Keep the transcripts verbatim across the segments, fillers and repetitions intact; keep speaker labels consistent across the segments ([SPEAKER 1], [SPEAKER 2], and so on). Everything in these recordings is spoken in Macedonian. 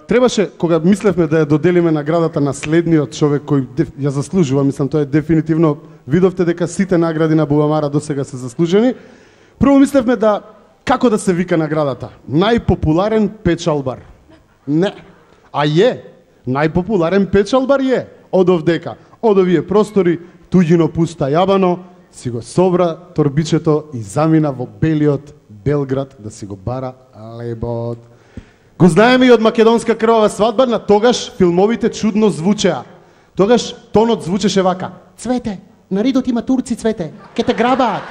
[SPEAKER 1] Требаше, кога мислевме да ја доделиме наградата на следниот човек кој ја заслужува, мислам, тоа е дефинитивно, видовте дека сите награди на Бубамара досега се заслужени. Прво мислевме да, како да се вика наградата? Најпопуларен печалбар. Не, а е, најпопуларен печалбар е, од овдека, од овие простори, туѓино пуста јабано, си го собра торбичето и замина во белиот Белград да си го бара лебот. Го знаеме и од македонска крвава свадба, на тогаш филмовите чудно звучеа. Тогаш тонот звучеше вака: Цвете, на ридот има турци, Цвете, ке те грабаат.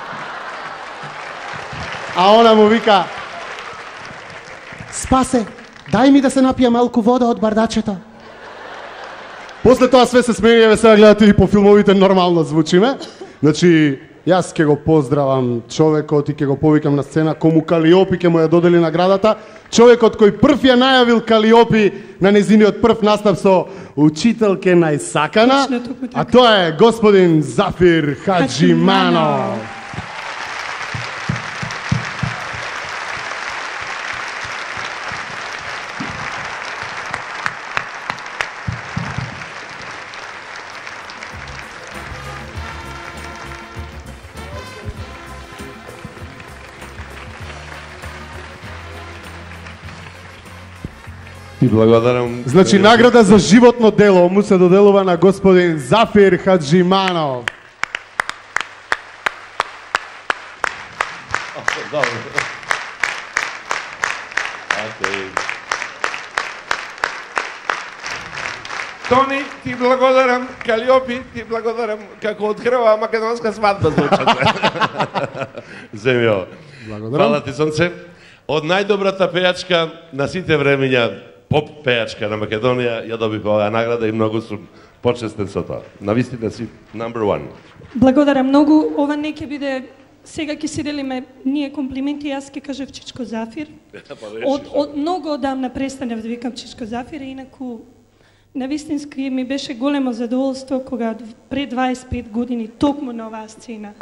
[SPEAKER 1] А она му вика: Спасе, дај ми да се напија малку вода од бардачето. После тоа све се смени, еве сега гледате и по филмовите нормално звучиме. Значи, јас ќе го поздравам човекот и ќе го повикам на сцена, кому Калиопи ќе му ја додели наградата. Човекот кој прв ја најавил Калиопи на незиниот прв настап со учителке најсакана, а тоа е господин Зафир Хаджиманов.
[SPEAKER 2] Ти благодарам.
[SPEAKER 1] Значи, награда за животно дело му се доделува на господин Зафир Хаджиманов.
[SPEAKER 2] Тони, ти благодарам. Калиопи, ти благодарам. Како открива македонска свадба звучат. Земјо.
[SPEAKER 1] Благодарам.
[SPEAKER 2] Фала ти, сонце. Од најдобрата пејачка на сите времења, поп пејачка на Македонија, ја добив оваа награда и многу сум почестен со тоа. Навистина си number one.
[SPEAKER 3] Благодарам многу. Ова не ќе биде, сега ќе си делиме ние комплименти, јас ќе кажев Чичко Зафир. Од, од многу одамна престанав да викам Чичко Зафир, инаку навистински ми беше големо задоволство кога пред дваесет и пет години токму на оваа сцена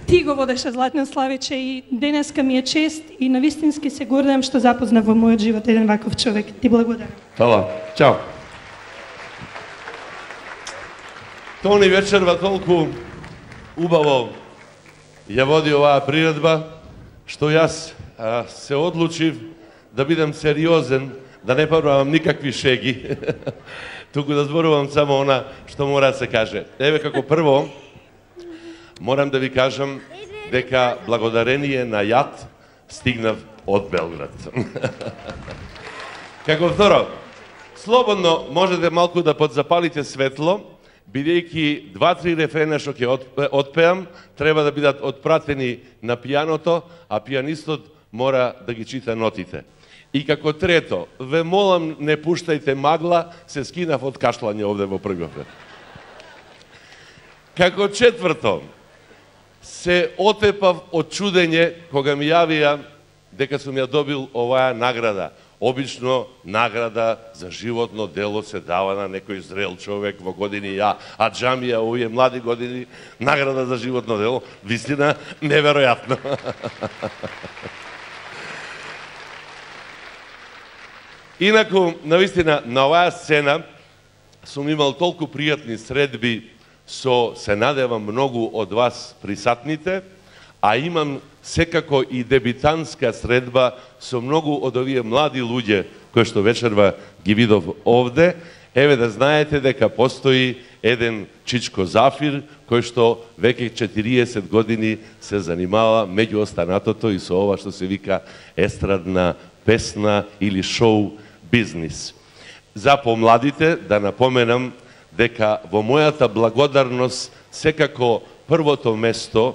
[SPEAKER 3] ти го водеше Златно Славиче и денеска ми е чест и навистински се гордеам што запознав во мојот живот еден ваков човек. Ти благодарам.
[SPEAKER 2] Фала. Чао. Тони вечерва толку убаво ја води оваа приредба, што јас а, се одлучив да бидам сериозен, да не правам никакви шеги, туку да зборувам само она што мора да се каже. Еве, како прво, морам да ви кажам дека благодарение на јад стигнав од Белград. Како второ, слободно можете малку да подзапалите светло, бидејќи два-три рефрена што ќе отпеам, треба да бидат отпратени на пијаното, а пијанистот мора да ги чита нотите. И како трето, ве молам, не пуштајте магла, се скинав од кашлање овде во првиот ред. Како четврто, се отепав од чудење кога ми јавија дека сум ја добил оваа награда. Обично награда за животно дело се дава на некој зрел човек во години ја, а џамија овие млади години награда за животно дело, вистина неверојатно. Инаку, навистина, на оваа сцена сум имал толку пријатни средби со, се надевам, многу од вас присатните, а имам секако и дебитанска средба со многу од овие млади луѓе кои што вечерва ги видов овде. Еве да знаете дека постои еден Чичко Зафир кој што веќе четириесет години се занимава меѓу останатото и со ова што се вика естрадна песна или шоу бизнис. За помладите да напоменам дека во мојата благодарност секако првото место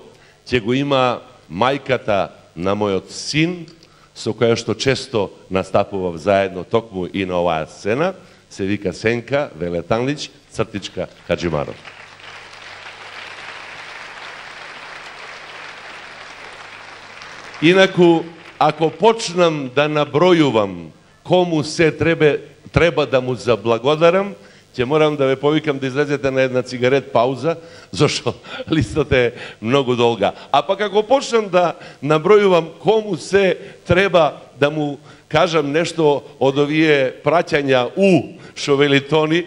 [SPEAKER 2] ќе го има мајката на мојот син, со која што често настапував заедно токму и на оваа сцена, се вика Сенка Велетанлич, цртичка Хаджиманов. Инаку, ако почнам да набројувам кому се треба, треба да му заблагодарам, ќе морам да ве повикам да излезете на една цигарет пауза, зашто листата е многу долга. А пак ако почнам да набројувам кому се треба да му кажам нешто од овие праќања у Шовелитони,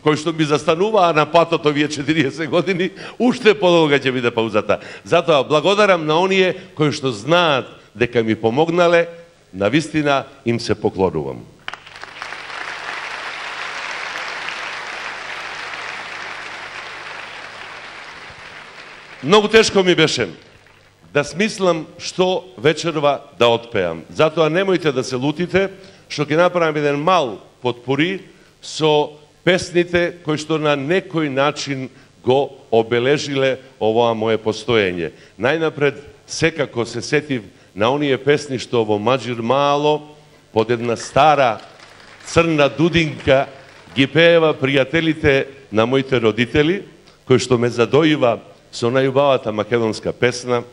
[SPEAKER 2] кои што ми застануваа на патот овие четириесет години, уште подолга ќе биде паузата. Затоа благодарам на оние кои што знаат дека ми помогнале, навистина им се поклонувам. Многу тешко ми беше да смислам што вечерва да отпеам. Затоа немојте да се лутите, што ќе направам еден мал потпори со песните кои што на некој начин го обележиле овоа мое постоење. Најнапред, секако се сетив на оние песни што во Маџир Мало, под една стара црна дудинка, ги пеева пријателите на моите родители, кои што ме задоива со најубавата македонска песна.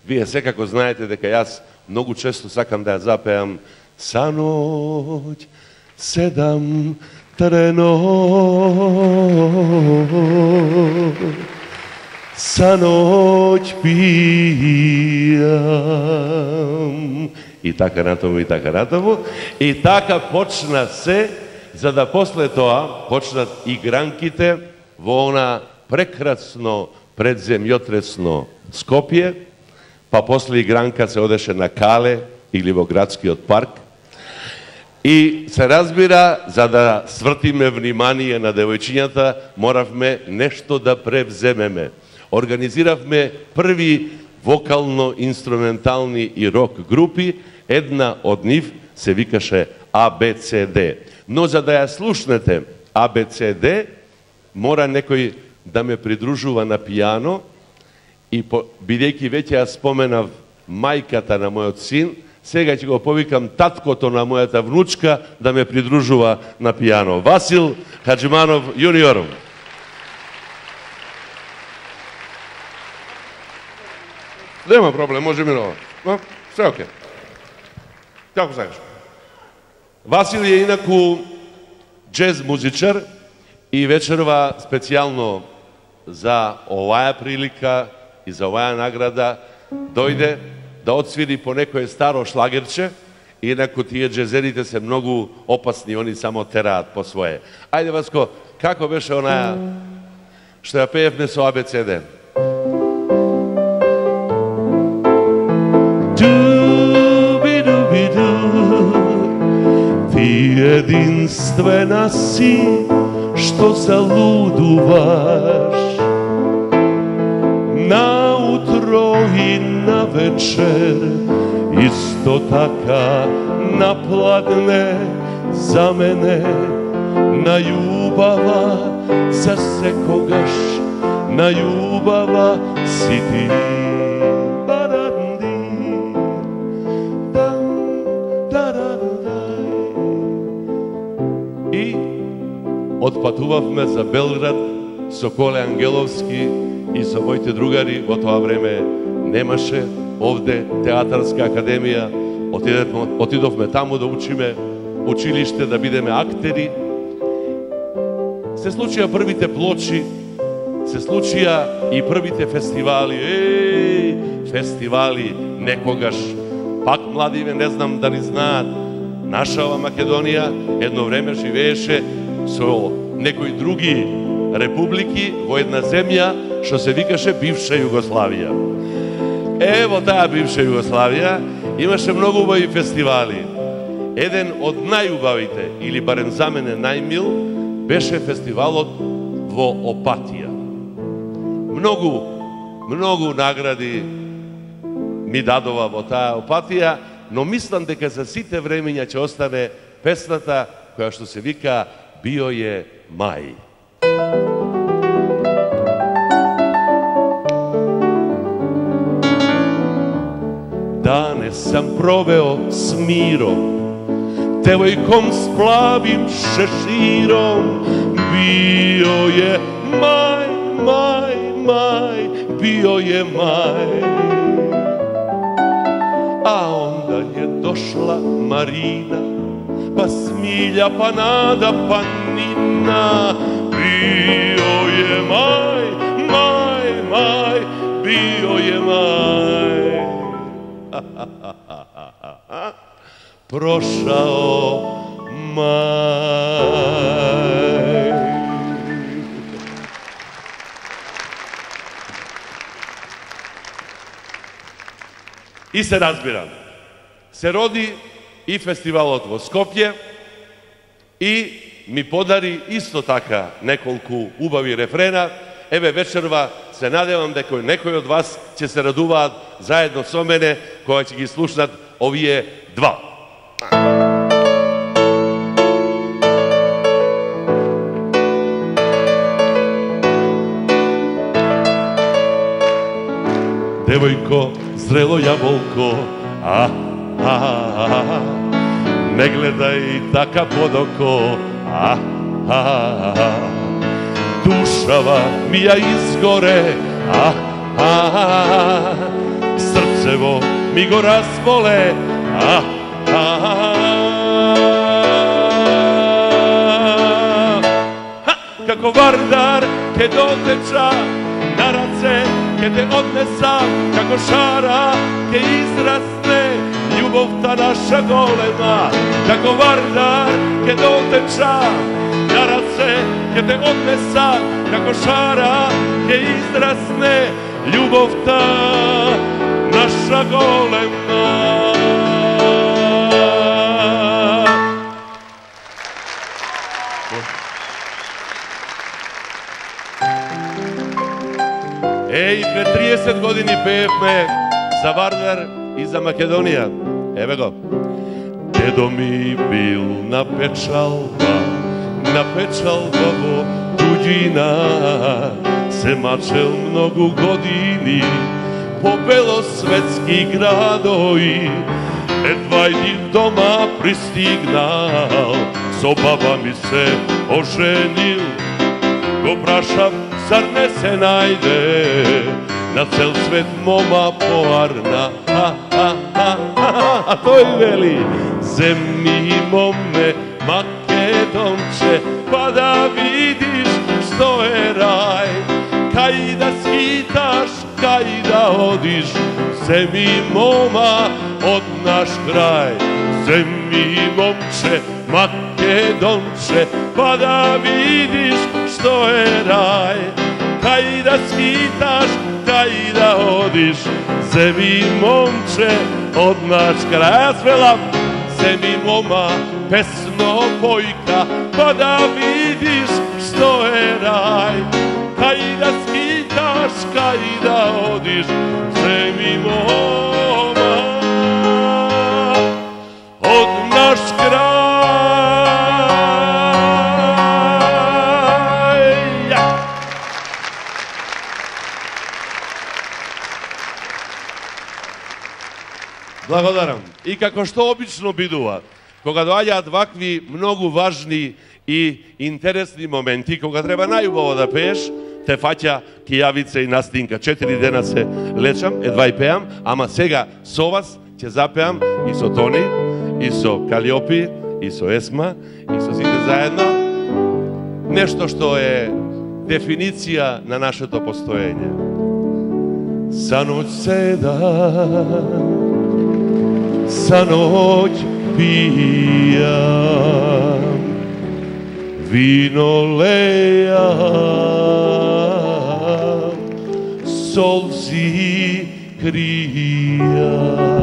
[SPEAKER 2] Вие секако знаете дека јас многу често сакам да ја запеам Са ноќ седам трено, са ноќ пијам. И така натаму, и така натаму. И така почна се, за да после тоа почнат игранките во она прекрасно предземјотресно Скопје, па после игранка се одеше на Кале или во градскиот парк. И се разбира, за да свртиме внимание на девојчињата, моравме нешто да превземеме. Организиравме први вокално-инструментални и рок групи, една од нив се викаше А Б Ц Д. Но за да ја слушнете А Б Ц Д, мора некој да ме придружува на пијано и по, бидејќи веќе ја споменав мајката на мојот син, сега ќе го повикам таткото на мојата внучка да ме придружува на пијано. Васил Хаджиманов јуниор. Нема проблем, може минува. Но, се оке. Како сакаш? Васил е инаку джез музичар и вечерва специјално за оваа прилика и за оваа награда дојде да отсвири по некое старо шлагерче, инаку тие джезерите се многу опасни, они само тераат по свое. Ајде, Васко, како беше онаја што ја пеевме со А Б Ц Д? Ти единствена си, што залудуваш наутро и на вечер, исто така напладне за мене, најубава за секогаш, најубава си ти. И отпатувавме за Белград со Коле Ангеловски и со моите другари. Во тоа време немаше овде театарска академија. Отидовме, отидовме таму да учиме училиште, да бидеме актери. Се случија првите плочи, се случија и првите фестивали. Еј, фестивали некогаш. Пак младиве не знам дали знаат, наша ова Македонија едно време живееше со некои други републики во една земја што се викаше бивша Југославија. Ево таа бивша Југославија имаше многу убави фестивали. Еден од најубавите, или барем за мене најмил, беше фестивалот во Опатија. Многу, многу награди ми дадова во таа Опатија, но мислам дека за сите времења ќе остане песната која што се вика Био е мај. Данес сам провео с миром, девојком с плавим шеширом. Био е мај, мај, мај, био е мај. А onda je došla Marina, pa Smilja, pa Nada, pa Nina. Bio je maj, maj, maj, bio je maj. прошао мај. И се разбирам, се роди и фестивалот во Скопје и ми подари исто така неколку убави рефрена. Еве вечерва се надевам дека некој од вас ќе се радуваат заедно со мене кога ќе ги слушнат овие два. Девојко, зрело јаболко, а, а, а, не гледај така под око, а, а, а, душава ми ја изгоре, а, а, а, срцево ми го разболе, а, а, а, како вардар ке дотеча на раце, ке те однеса, како шара ке израсне љубовта наша голема, како вардар ке дотеча на раце, ке те однеса, како шара ке израсне љубовта наша голема. Еј, пред триесет години пеевме за Вардар и за Македонија. Еве го. Дедо ми бил на печалба, на печалба во туѓина, се мачел многу години по белосветски градови, едва и дома пристигнал, со баба ми се оженил, го прашав, зар не се најде на цел свет мома поарна, а, а, а, а, а тој вели, земни моме Македонче, па да видиш што е рај, кај да скиташ, кај да одиш, земи мома од наш крај, земи момче Македонче, па да видиш што е рај, кај да скиташ, кај да одиш, земи момче од наш крај. Јас велам, земи мома песно појка, па да видиш што е рај, кај да скиташ, кај да одиш, земи мома од наш крај. Благодарам. И како што обично бидува, кога доаѓаат вакви многу важни и интересни моменти, кога треба најубаво да пееш, те фаќа кијавица и настинка. Четири дена се лечам, едва и пеам, ама сега со вас ќе запеам и со Тони, и со Калиопи, и со Есма, и со сите заедно. Нешто што е дефиниција на нашето постоење. Са ноќ седам, sa noć pijam, vino lejam, solzi krijam,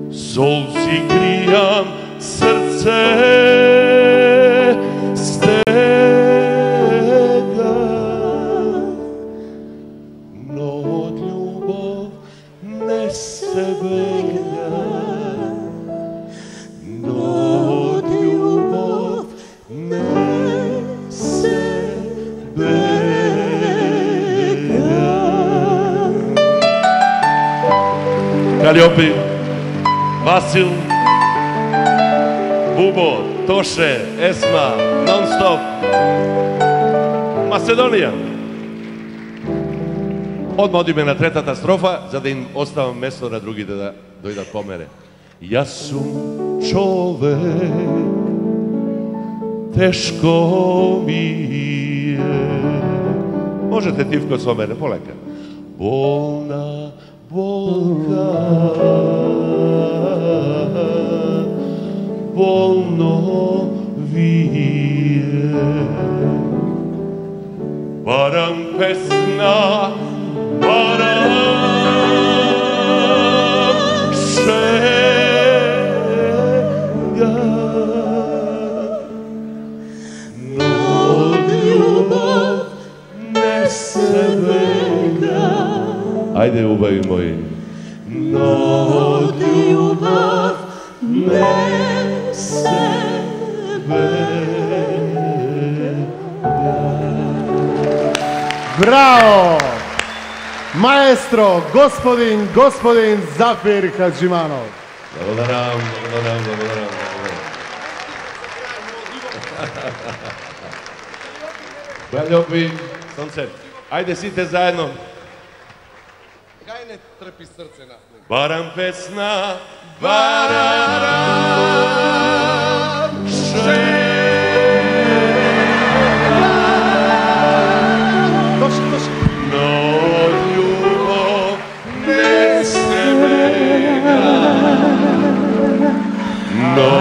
[SPEAKER 2] solzi krijam, srce stega, no od ljubov ne sebe. Калиопи, Васил, Бубо, Тоше, Есма, Нонстоп, Македонија. Одма одиме на третата строфа, за да им оставам место на другите да дојдат по мене. Јас сум човек, тешко ми е. Можете тивко со мене, полека. Болна болка болно вие. Барам песна, барам шега, но љубов не се бега. Ајде, убави мои. Но љубов не се
[SPEAKER 1] Браво! Маестро, господин, господин Зафир Хаджиманов.
[SPEAKER 2] Благодарам, благодарам, благодарам. Љуби, сонце, ајде сите заедно.
[SPEAKER 4] Кај не трпи срце на него.
[SPEAKER 2] Барам песна, барам шега.
[SPEAKER 1] Дошли, дошли.
[SPEAKER 2] Но љубов не се бега. Но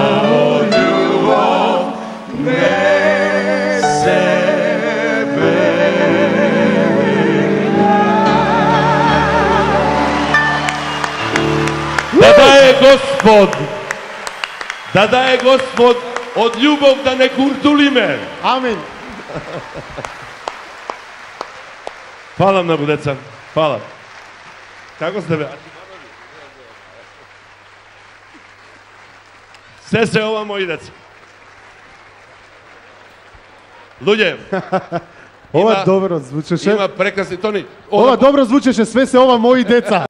[SPEAKER 2] љубов не се Да дае Господ, да дае Господ од љубов да не куртулиме.
[SPEAKER 1] Амин.
[SPEAKER 2] Фала многу, деца. Фала. Како сте, бе? Се се ова, мои деца. Луѓе,
[SPEAKER 1] Ова
[SPEAKER 2] Има-
[SPEAKER 1] добро звучеше.
[SPEAKER 2] има прекрасни тони.
[SPEAKER 1] Ова добро звучеше, све се ова мои деца.